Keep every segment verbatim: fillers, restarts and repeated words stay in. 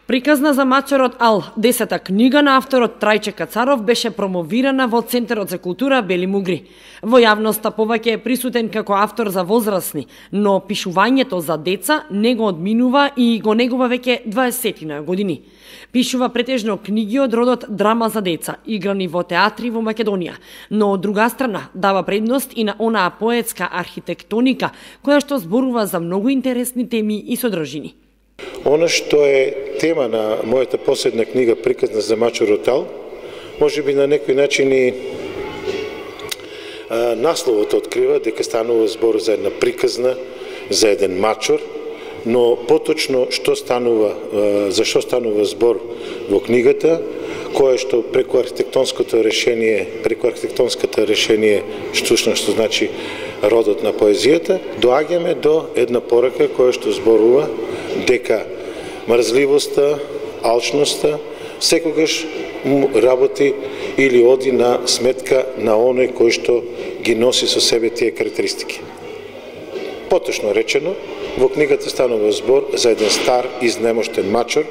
Приказна за мачорот Ал, десета книга на авторот Трајче Кацаров, беше промовирана во Центарот за култура Бели Мугри. Во јавноста повеќе е присутен како автор за возрасни, но пишувањето за деца не го одминува и го негува веќе дваесетина години. Пишува претежно книги од родот драма за деца, играни во театри во Македонија, но од друга страна дава предност и на онаа поетска архитектоника, која што зборува за многу интересни теми и содржини. Она што е тема на мојата последна книга Приказна за мачорот Ал, може би на некој начин и а, насловот открива дека станува збор за една приказна, за еден мачор, но поточно што станува, а, за што станува збор во книгата, кое што преку архитектонското решение, преку архитектонската решение, што што значи родот на поезијата, доаѓаме до една порака која што зборува дека мрзливоста, алчноста секогаш работи или оди на сметка на оној кој што ги носи со себе тие карактеристики. Поточно речено, во книгата станува збор за еден стар изнемоштен мачор,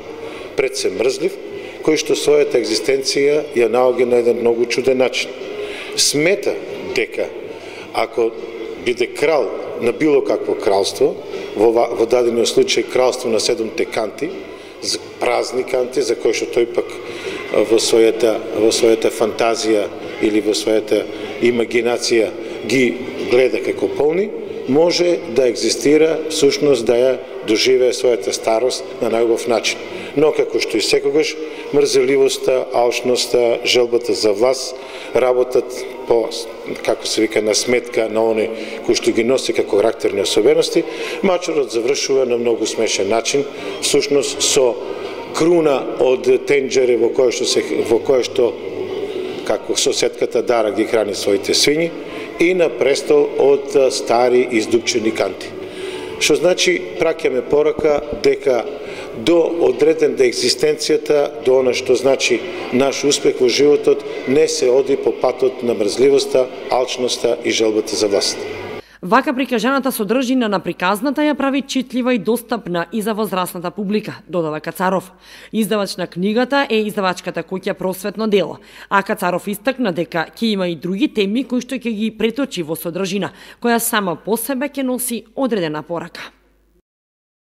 пред се мрзлив, кој што својата екзистенција ја наоѓа на еден многу чуден начин. Смета дека ако биде крал на било какво кралство, во, во дадениот случај кралство на седумте канти, празни канти, за кои што тој пак во својата, во својата фантазија или во својата имагинација ги гледа како полни, може да екзистира, всушност да ја доживее својата старост на најубав начин. Но како што и секогаш, мрзеливоста, алчноста, желбата за власт, работат по, како се вика, на сметка на оној кој што ги носи како карактерни особености, мачорот завршува на многу смешен начин, всушност со круна од тенџере во кое што се во кое што како соседката Дара ги храни своите свињи и на престол од стари издупчени канти. Што значи праќаме порака дека до одреден да екзистенцијата, до она што значи наш успех во животот, не се оди по патот на мрзливоста, алчноста и желбата за власт. Вака прикажаната содржина на приказната ја прави читлива и достапна и за возрастната публика, додава Кацаров. Издавач на книгата е издавачката куќа Просветно дело, а Кацаров истакна дека ќе има и други теми кои што ќе ги преточи во содржина, која сама по себе ќе носи одредена порака.